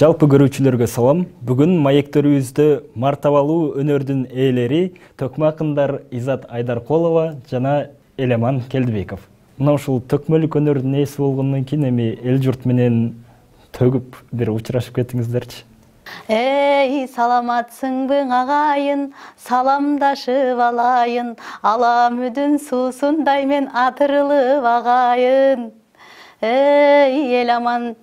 Жалпы көрүүчүлөргө салам. Бүгүн маектөрүбүздө мартабалуу өнөрдүн ээлери төкмө акындар Изат Айдаркулова жана Элеман Келдибеков. Мына ушул төкмөлүк өнөрдүн ээси болгондон кийин эми эл журт менен төгүп бир учурашып кеттиңиздерчи. Эй, саламатсыңбы агайын, саламдашып алайын, аламүдүн суусундай мен атырылып агайын. Эй, Эламан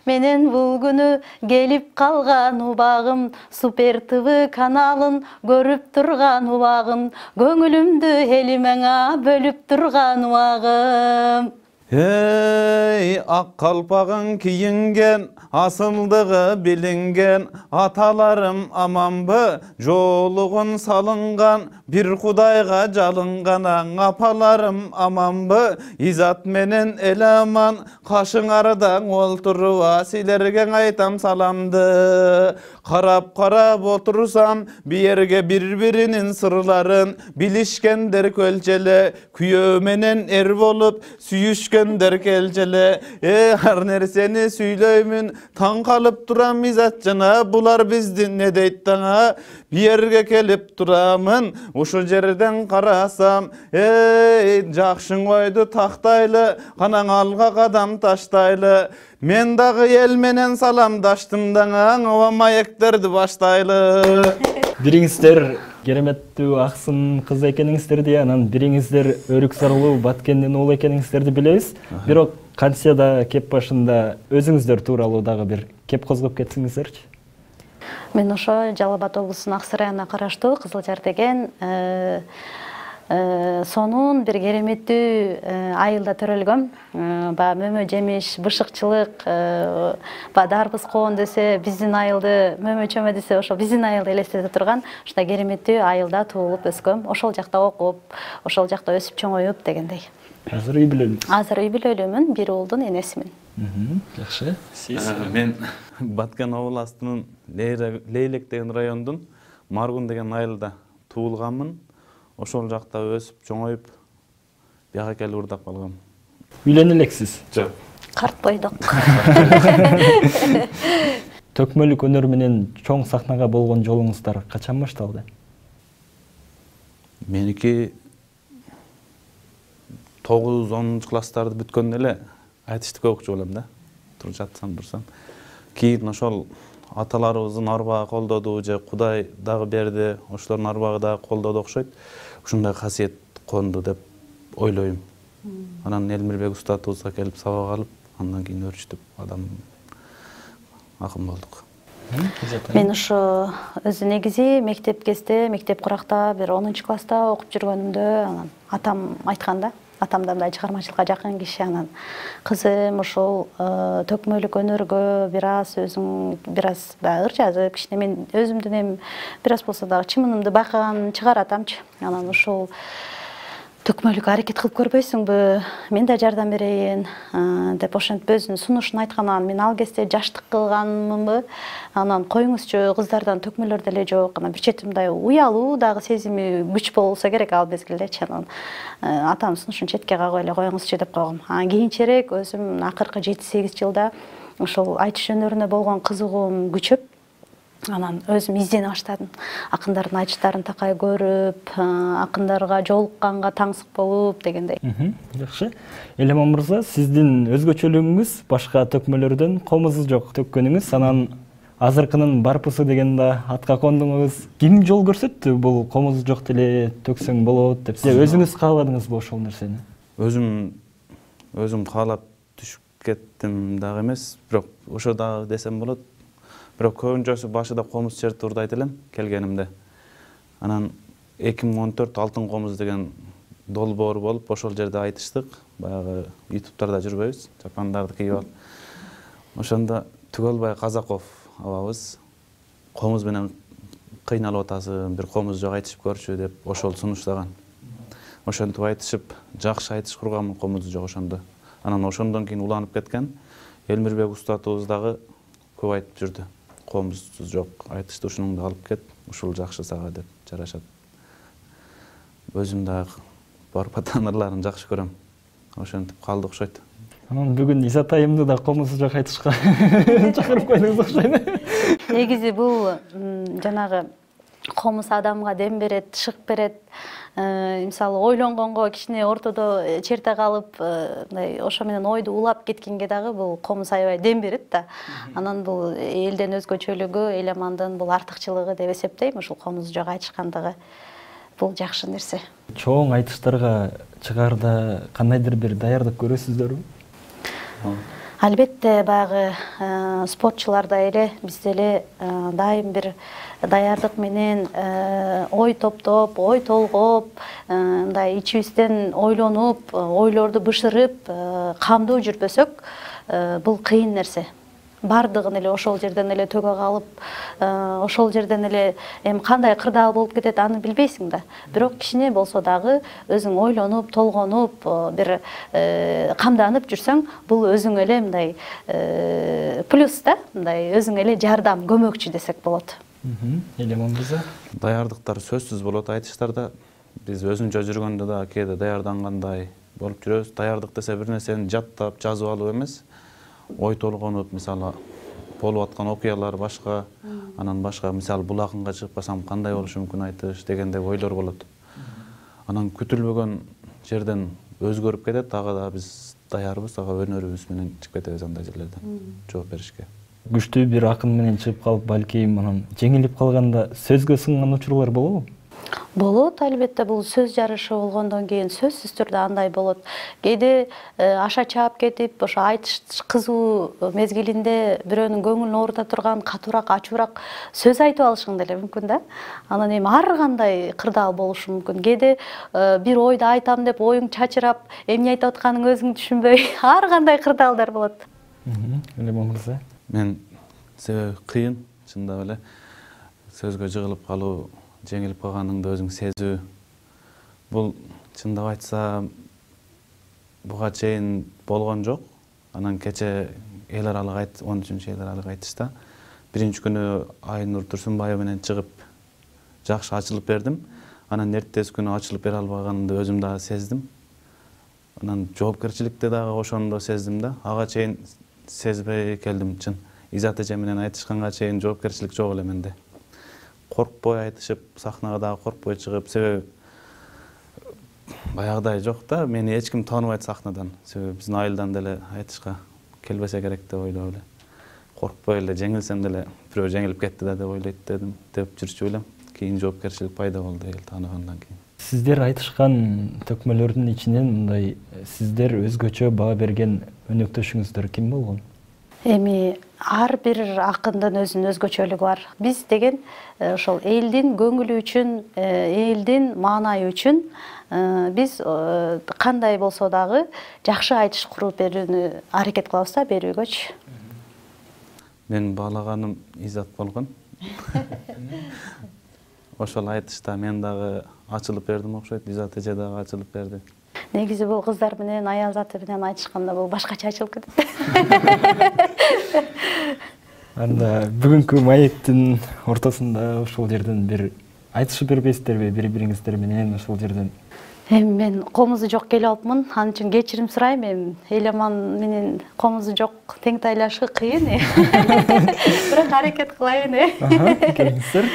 менен бул күнү келип калган убагым, Супер ТВ каналын көрүп турган убагым, көңүлүмдү элимеңа бөлүп турган убагым. Эй, ак калпагын кийинген, асылдыгы билинген, аталарым аманбы, жолугун салынган, бир кудайга жалынган, апаларым аманбы, Изат менен Эламан, кашыңарда олтуруба, силерге айтам саламды. Карап отурсам, биерге бири-биринин сырларын, билишкендер көлчеле, күйөө менен эр болуп, сүйүшкендер келчеле. Ар нерсени сүйлөймүн, таң калып турам Изат жана, булар биздин не дейт таңа. Биерге келип турамын, ушул жерден карасам, эй, жакшың ойду тактайлы, канаң алга кадам таштайлы. Мен дагы эл менен саламдаштым даңаң, ова маектерди баштайлы. Бириңиздер кереметтүү аксын кыз экениңиздерди, анан бириңиздер өрүк сарылуу Баткендин уулу экениңиздерди билебиз. Бирок кансияда кеп башында өзүңүздөр тууралуу дагы бир кеп козгоп кетсиңиздерчи. Мен ошо Жалал Абад облусунун Аксы районуна караштуу Кызылжар деген сонун бир кереметтүү айылда төрөлгөм. Мөмө жемиш, бышыкчылык, дарбыз коон десе, биздин айылды, мөмө чөмө десе, ошо биздин айылды элестете турган ушундай кереметтүү айылда туулуп өскөм. Ошол жакта окуп, ошол жакта өсүп чоңоюп дегендей. Азыр үй бүлөлүсүз? Азыр үй бүлөлүүмүн, бир уулдун энесимин. Жакшы. Сиз? Мен Баткен областынын Лейлек деген райондун Маргун деген айылда туулганмын. Ошол жакта өсүп, чоңоюп, бияка келип урдап калгам. Үйлөнө элексиз? Жок. Карт бойдок. Төкмөлүк өнөр менен чоң сахнага болгон жолуңуздар качан башталды? Меники 9-10 класстарды бүткөндө эле айтыштык окуучу болом да. Туруп жатсам. Кийин ошол аталарыбыздын арбагы колдоду же Кудай дагы берди, ошолордун арбагы дагы колдоду окшойт. Ушундай касиет конду деп ойлойм. Анан Элмирбек устатыбызга келип сабак алып, андан кийин өрчүтүп адам акын болдук. Мен ошо өзү негизи мектеп кезде, мектеп куракта бир 10-класста окуп жүргөнүмдө, анан атам айтканда, атам да мындай чыгармачылыкка жакын киши, анан кызым ошол төкмөлүк өнөргө бир аз ыр жазып, кичине мен өзүмдүн эми бир аз болсо дагы чымынымды байкаган чыгар атамчы. Анан ошол төкмөлүк аракет кылып көрбөйсүңбү, мен да жардам берейин деп ошентип өзүнүн сунушун айтканан мен ал кезде жаштык кылганмынбы. Анан коюңузчу, кыздардан төкмөлөр деле жок. Анан бир чети мындай уялуу дагы сезими күч болсо керек ал мезгилдечи. Анан атам сунушун четке кагып эле коюңузчу деп койгом. Анан кийинчерээк өзүм акыркы 7-8 жылда ошол айтыш өнөрүнө болгон кызыгуум күчөп, анан өзүм издене баштадым. Акындардын айтыштарын такай көрүп, акындарга жолукканга таңсык болуп дегендей. Жакшы. Элеман мырза, сиздин өзгөчөлүгүңүз башка төкмөлөрдөн комузу жок төккөнүңүз, анан азыркынын барпысы деген да атка кондуңуз. Ким жол көрсөттү бул комузу жок деле төксөң болот деп? Сиз өзүңүз кааладыңызбы ошол нерсени? Өзүм каалап түшүп кеттим дагы эмес, бирок ошо дагы десем болот. Бирок көбүнчөсү башыда комуз чертип урдайт элем келгенимде. Анан 2014 Алтын комуз деген долбоор болуп, ошол жерде айтыштык. Баягы ютубтарда жүрбөйбүз, чапандарды кийип алып. Ошондо Түгөлбай Казаков абабыз комуз менен кыйналып атасың, бир комуз жок айтышып көрчү деп ошол сунуштаган. Ошентип айтышып, жакшы айтыш курганмын, комузу жок ошондо. Анан ошондон кийин уланып кеткен Элмирбек устатыбыз дагы көп айтып жүрдү. Комузсуз жок, айтышты ушунуңду алып кет, ушул жакшы сага деп жарашат. Өзүм дагы барып атанарларын жакшы көрөм. Ошентип калды окшойт. Анан бүгүн Изатайымды да комузу жок айтышка чакырып койдуңуз окшойт. Негизи бул жанагы комуз адамга дем берет, шык берет. Мисалы ойлонгонго кичине ортодо черте калып, мындай ошо менен ойду улап кеткенге дагы бул комуз аябай дем берет да. Анан бул элден өзгөчөлүгү, Эламандын бул артыкчылыгы деп эсептейм, ушул комузу жок айтышкандыгы. Бул жакшы нерсе. Чоң айтыштарга чыгаарда кандайдыр бир даярдык көрөсүздөрбү? Албетте баягы спортчуларда эле биз деле дайым бир даярдык менен ой топтоп, ой толгоп, мындай ичибизден ойлонуп, ойлорду бышырып, камдуу жүрбөсөк, бул кыйын нерсе. Бардыгын эле ошол жерден эле төгө калып, ошол жерден эле кандай кырдаал болуп кетет аны билбейсиң да. Бирок кичине болсо дагы өзүң ойлонуп, толгонуп, бир камданып жүрсөң, бул өзүң эле мындай плюс да, мындай өзүң эле жардам, көмөкчү десек болот. Элеман мырза. Даярдыктар сөзсүз болот айтыштарда. Биз өзүнчө жүргөндө да кээде даярдангандай болуп жүрөбүз. Даярдык десе бир нерсени жаттап, жазып алып эмес, ой толгонуп, мисалы болуп аткан окуялар башка, анан башка, мисалы бул акынга чыгып калсам кандай болушу мүмкүн айтыш дегендей ойлор болот. Анан күтүлбөгөн жерден өзгөрүп кетет, ага да биз даярбыз, ага өнөрүбүз менен чыгып кетебиз андай жерлерден жооп беришке. Күчтүү бир акын менен чыгып калып, балким анан жеңилип калганда сөзгө сынган учурлар болобу? Болот, албетте, бул сөз жарышы болгондон кийин сөзсүз түрдө андай болот. Кээде аша чаап кетип, ошо айтыш кызуу мезгилинде бирөөнүн көңүлүн оорута турган катуураак, ачуураак сөз айтып алышың деле мүмкүн да. Анан ар кандай кырдаал болушу мүмкүн. Кээде бир ойду айтам деп оюң чачырап, эмне айтып атканыңды өзүң түшүнбөй, ар кандай кырдаалдар болот. Элеман мырза. Мен себеби кыйын, чындап эле сөзгө жыгылып калуу, жеңилип калганыңды өзүң сезүү. Бул чындап айтсам буга чейин болгон жок. Анан кече эл аралык 13-эл аралык айтышта биринчи күнү Айнур Турсунбаева менен чыгып жакшы ачылып бердим. Анан эртеси күнү ачылып бере албаганымды өзүм дагы сездим. Анан жоопкерчиликти дагы ошондо сездим да. Ага чейин сезбей келдим чын. Изат эже менен айтышканга чейин жоопкерчилик жок эле менде. Коркпой айтышып, сахнага дагы коркпой чыгып, себеби баягыдай жок да, мени эч ким тааныбайт сахнадан. Себеби биздин айылдан деле айтышка келбесе керек деп ойлоп эле. Коркпой эле жеңилсем деле бирөө жеңилип кетти да деп ойлойт дедим, деп жүрчү элем. Кийин жоопкерчилик пайда болду эл тааныгандан кийин. Сиздер айтышкан төкмөлөрдүн ичинен мындай сиздер өзгөчө баа берген өнөктөшүңүздөр ким болгон? Эми ар бир акындын өзүнүн өзгөчөлүгү бар. Биз деген ошол элдин көңүлү үчүн, элдин маанайы үчүн биз кандай болсо дагы жакшы айтыш куруп берүүнү аракет кылабыз да, берүүгөчү. Мен баалаганым Изат болгон. Ошол айтышта мен дагы ачылып бердим окшойт, Изат эже дагы ачылып берди. Негизи бул кыздар менен, аял заты менен айтышканда бул башкача ачылып кетет. Анда бүгүнкү маектин ортосунда ошол жерден бир айтышып бербейсиздерби бири-бириңиздер менен ошол жерден? Эми мен комузу жок келип алыпмын, анын үчүн кечирим сурайм. Эми Элеман менен комузу жок тең тайлашы кыйын. Бирок аракет кылайын. Келиңиздер.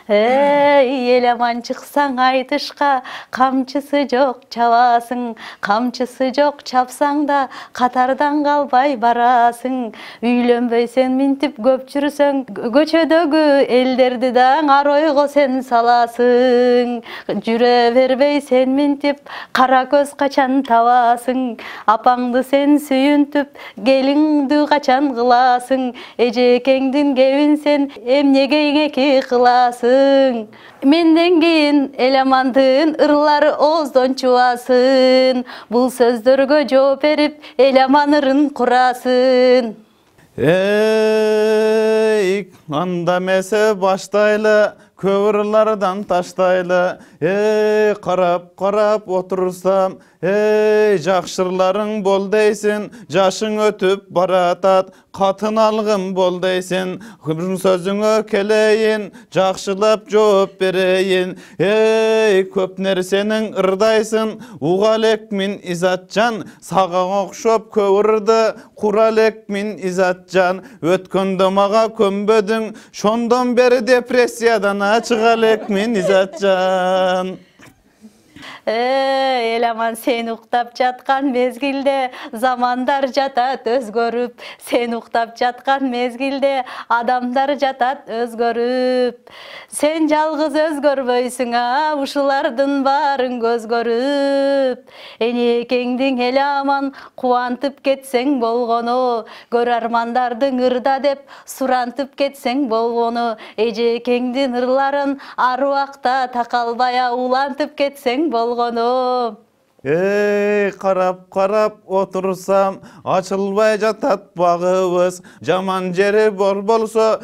Эй, Элеман чыксаң айтышка, камчысы жок чабасың, камчысы жок чапсаң да катардан калбай барасың. Үйлөнбөйсөң минтип көп жүрсөң, көчөдөгү элдерди даң ар ойго сен саласың. Жүрө бербей сен минтип кара көз качан табасың. Апаңды сен сүйүнтүп, келиңди качан кыласың. Эжекеңдин кебин сен эмнеге эки кыласың. Менден кийин Элемандын ырлары ооздон чубасын. Бул сөздөргө жооп берип Элеман ырын курасың. Эй, анда месе баштайлы, көп ырлардан таштайлы. Эй, карап отурсам, Ey жакшырларың бол дейсин, жашың өтүп баратат, катын алгым бол дейсин, сөзүңө келейин, жакшылап жооп берейин. Ей көп нерсенин ырдайсың, уга элек мин изатжан, сага окшоп көп ырды кура элек мин изатжан. Өткөндө мага көнбөдүң, шондон бери депрессиядан чыга элек мин изатжан. Эламан, сен уктап жаткан мезгилде замандар жатат өзгөрүп, сен уктап жаткан мезгилде адамдар жатат өзгөрүп. Сен жалгыз өзгөрбөйсүң, ушулардын баарын көз көрүп. Энекеңдиң эламан кубантып кетсең болгону, көр армандардың ырда деп сурантып кетсең болгону. Эжекеңдин ырларын ар убакта такалбай улантып кетсең болгону. Ей карап отурсам, ачылбай жатат багыбыз. Жаман жери болсо,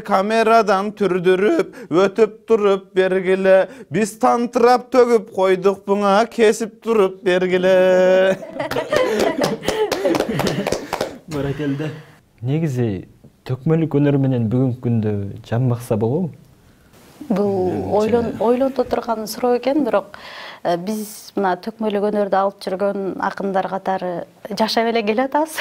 камерадан түрдүрүп, өтүп туруп бергиле. Биз тантырап төгүп койдук буңа, кесип туруп бергиле. Баракелде. Негизи төкмөлүк өнөр менен бүгүнкү күндө жамбакса болобу? Бул ойлонто турган суроо экен, бирок биз мына төкмөлүк өнөрдү алып жүргөн акындар катары жашап эле келатабыз.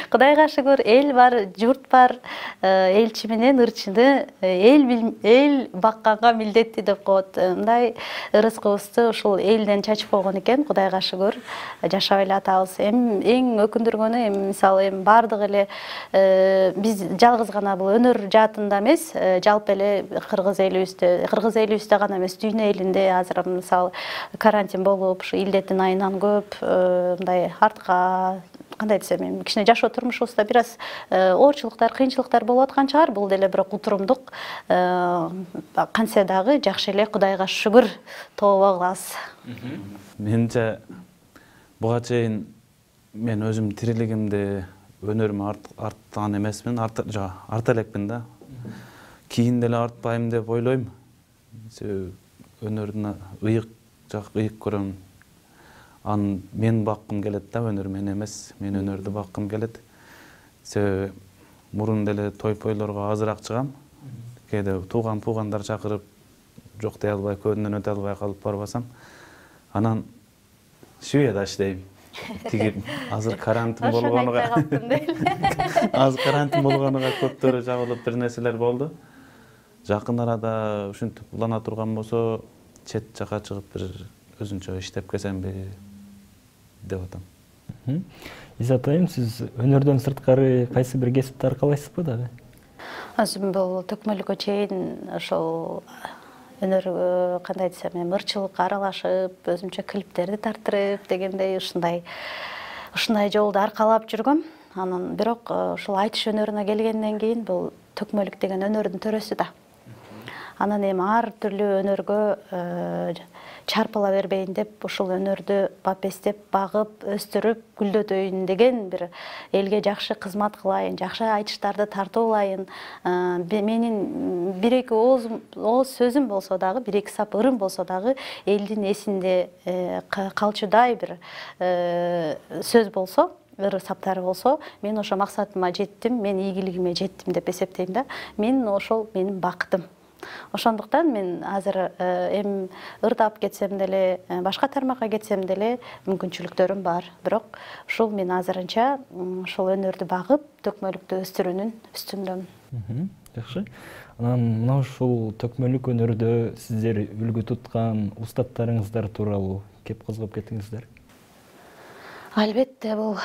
Кудайга шүгүр, эл бар, журт бар, элчи менен ырчыны эл бакканга милдеттүү деп коет. Мындай ырыскыбызды ушул элден чачып койгон экен, Кудайга шүгүр, жашап эле атабыз. Эң өкүндүргөнү, мисалы бардык эле биз жалгыз гана бул өнөр жаатында эмес, жалпы эле кыргыз элибизде гана эмес, дүйнө элинде азыр мисалы карантин болуп, ушу илдеттин айынан көп мындай артка кандай десем, кичине жашоо турмушубузда бир аз оорчулуктар, кыйынчылыктар болуп аткан чыгар. Бул деле бирок утурумдук, кантсе дагы жакшы эле, Кудайга шүгүр тобо кылабыз. Менимче буга чейин мен өзүм тирилигимде өнөрүмө арткан эмесмин, арта элекмин да. Кийин деле артпайм деп ойлойм. Өнөрдүн ыйык көрөм. Мен баккым келет да, өнөр мен эмес, мен өнөрдү баккым келет. Мурун деле той-пойлорго азыраак чыгам. Кээде туугандар чакырып, жок дей албай, көбүнөн өтө албай калып барбасам, анан Шведада иштейм. Тиги азыр карантин болгонуга көптөрү жабылып бир нерселер болду. Жакын арада ушинтип улана турган болсо, чет жака чыгып бир өзүнчө иштеп келсемби деп атам. Изат айым, сиз өнөрдөн сырткары кайсы бир кесипти аркалайсызбы дагы? Өзүм бул төкмөлүккө чейин ошол өнөргө кандай десем, ырчылыкка аралашып, өзүмчө клиптерди тартырып дегендей ушундай жолду аркалап жүргөм. Анан бирок ушул айтыш өнөрүнө келгенден кийин бул төкмөлүк деген өнөрдүн төрөсү да. Анан эми ар түрлүү өнөргө чарпыла бербейин деп, ушул өнөрдү бапестеп, багып, өстүрүп, гүлдөтөйүн деген бир элге жакшы кызмат кылайын, жакшы айтыштарды тартуулайын. Менин бир-эки ооз сөзүм болсо дагы, бир-эки сап ырым болсо дагы, элдин эсинде калчудай бир сөз болсо, ыр саптары болсо, мен ошо максатыма жеттим, мен ийгилигиме жеттим деп эсептейм да. Мен ошол менин бакытым. Ошондуктан мен азыр эми ырдап кетсем деле, башка тармакка кетсем деле мүмкүнчүлүктөрүм бар. Бирок ушул мен азырынча ушул өнөрдү багып, төкмөлүктү өстүрүүнүн үстүндөмүн. Жакшы. Анан мына ушул төкмөлүк өнөрдө сиздер үлгү туткан устаттарыңыздар тууралуу кеп козгоп кетиңиздер. Албетте, бул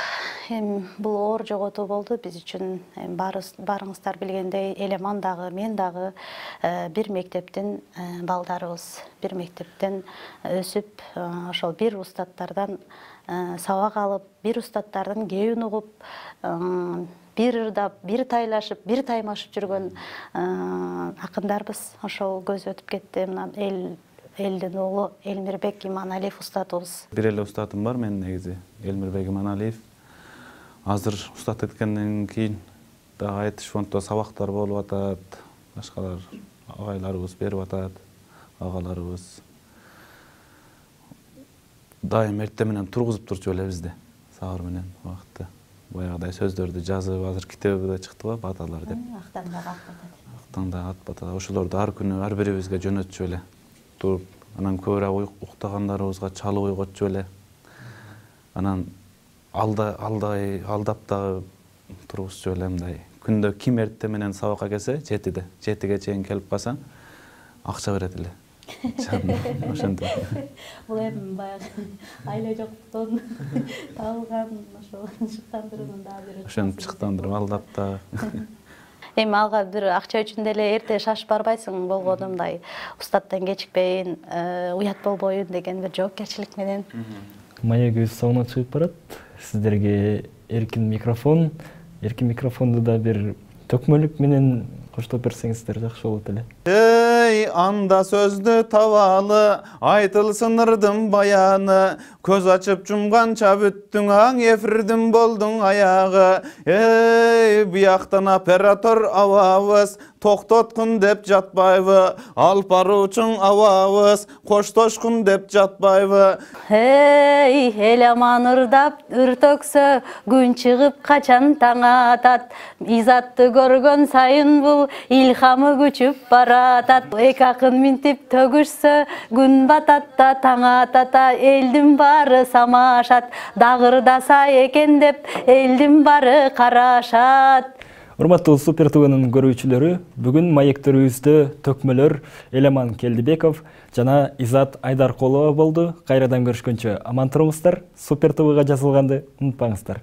оор жоготуу болду биз үчүн. Баарыңыздар билгендей, Элеман дагы, мен дагы бир мектептин балдарыбыз. Бир мектептен өсүп, ошол бир устаттардан сабак алып, бир устаттардын кебин угуп, бир ырдап, бир тайлашып, бир таймашып жүргөн акындарбыз. Ошол көз өтүп кетти. Мына элдин уулу Элмирбек Иманалиев устатыбыз. Бир эле устатым бар менин негизи, Элмирбек Иманалиев. Азыр устат эткенден кийин дагы айтыш фонддо сабактар болуп атат, башкалар агайларыбыз берип атат, агаларыбыз. дайым эртең менен тургузуп турчу эле бизди сабыр менен убакытта. Баягыдай сөздөрдү жазып, азыр китеби да чыкты го, баталар деп. Актаңдагы ат бата. Ошолорду ар күнү ар бирибизге жөнөтчү эле. Туруп, анан көбүрөөк уктагандарыбызга чалып ойготчу эле. Анан алдап дагы тургузчу эле мындай. Күндө ким эртең менен сабакка келсе, 7-ге чейин келип калса, акча берет эле. Ошентип. Бул эми баягы айла жоктон табылган ошол шыктандырууну дагы берет. Ошентип шыктандырып алдап да. Эми алга бир акча үчүн деле эрте шашып барбайсың, болгону мындай устаттан кечикпейин, уят болбоюн деген бир жоопкерчилик менен. Маегибиз соңуна чыгып барат. Сиздерге эркин микрофонду да бир төкмөлүк менен коштоп берсеңиздер жакшы болот эле. Эй, анда сөздү табалы, айтылсын ырдын баяны, көз ачып жумганча бүттүң аң, эфирдин болдуң аягы. Эй, бияктан оператор абабыз, токтоткун деп жатпайбы, алып баруучуң абабыз, коштошкун деп жатпайбы. Эй, эламан ырдап үртөксө, күн чыгып качан таң атат, изатты көргөн сайын бул илхамы күчүп баратат. Эки акын минтип төгүшсө, күн батат да таң атат, элдин баары самашат, дагырдаса экен деп элдин баары карашат. Урматтуу Супер ТВнын көрүүчүлөрү, бүгүн маектерибизде төкмөлөр Элеман Келдибеков жана Изат Айдаркулова болду. Кайрадан көрүшкөнчө аман туруңуздар. Супер ТВга жазылганды унутпаңыздар.